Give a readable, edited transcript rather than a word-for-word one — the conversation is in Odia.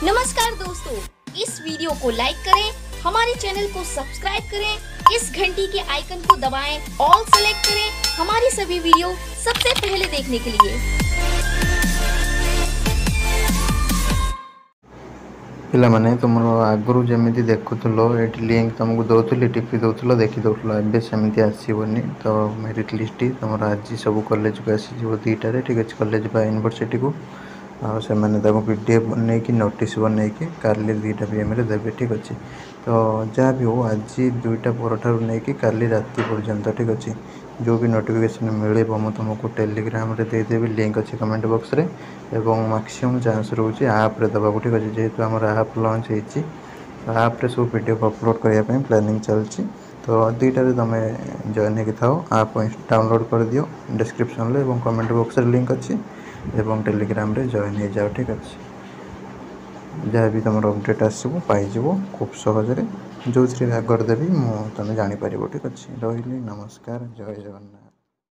नमस्कार दोस्तों, इस वीडियो को लाइक करें, हमारे चैनल को सब्सक्राइब करें, इस घंटी के आइकन को दबाएं, ऑल सेलेक्ट करें हमारी सभी वीडियो सबसे पहले देखने के लिए। ପିଲାମାନେ, ତୁମର ଆଗରୁ ଯେମିତି ଦେଖୁଥିଲ, ଏଇଠି ଲିଙ୍କ୍ ତୁମକୁ ଦେଉଥିଲି, ଟିପି ଦେଉଥିଲ, ଦେଖି ଦେଉଥିଲ, ଏବେ ସେମିତି ଆସିବନି। ତ ମେରିଟ୍ ଲିଷ୍ଟଟି ତୁମର ଆଜି ସବୁ କଲେଜକୁ ଆସିଯିବ 2ଟାରେ, ଠିକ୍ ଅଛି, କଲେଜ ବା ୟୁନିଭର୍ସିଟିକୁ। ଆଉ ସେମାନେ ତାକୁ PDF ବନେଇକି, ନୋଟିସ୍ ବନେଇକି କାଲି 2ଟା ପିଏମ୍ରେ ଦେବେ, ଠିକ୍ ଅଛି। ତ ଯାହା ବି ହଉ, ଆଜି 2ଟା ପରଠାରୁ ନେଇକି କାଲି ରାତି ପର୍ଯ୍ୟନ୍ତ, ଠିକ୍ ଅଛି, ଯେଉଁ ବି ନୋଟିଫିକେସନ୍ ମିଳିବ ମୁଁ ତୁମକୁ ଟେଲିଗ୍ରାମରେ ଦେଇଦେବି, ଲିଙ୍କ୍ ଅଛି କମେଣ୍ଟ ବକ୍ସରେ। ଏବଂ ମ୍ୟାକ୍ସିମମ୍ ଚାନ୍ସ ରହୁଛି ଆପ୍ରେ ଦେବାକୁ, ଠିକ୍ ଅଛି। ଯେହେତୁ ଆମର ଆପ୍ ଲଞ୍ଚ ହେଇଛି, ତ ଆପ୍ରେ ସବୁ PDF upload କରିବା ପାଇଁ ପ୍ଲାନିଂ ଚାଲିଛି। ତ 2ଟାରେ ତୁମେ ଜଏନ୍ ହେଇକି ଥାଅ, ଆପ୍ ଡାଉନଲୋଡ଼୍ କରିଦିଅ, ଡିସ୍କ୍ରିପ୍ସନ୍ରେ ଏବଂ କମେଣ୍ଟ ବକ୍ସରେ ଲିଙ୍କ୍ ଅଛି, ଏବଂ ଟେଲିଗ୍ରାମରେ ଜଏନ୍ ହେଇଯାଅ, ଠିକ୍ ଅଛି। ଯାହା ବି ତୁମର ଅପଡ଼େଟ୍ ଆସିବ ପାଇଯିବ ଖୁବ୍ ସହଜରେ, ଯେଉଁଥିରେ ବି ଆଗରେ ଦେବି ମୁଁ, ତୁମେ ଜାଣିପାରିବ, ଠିକ୍ ଅଛି। ରହିଲି, ନମସ୍କାର, ଜୟ ଜଗନ୍ନାଥ।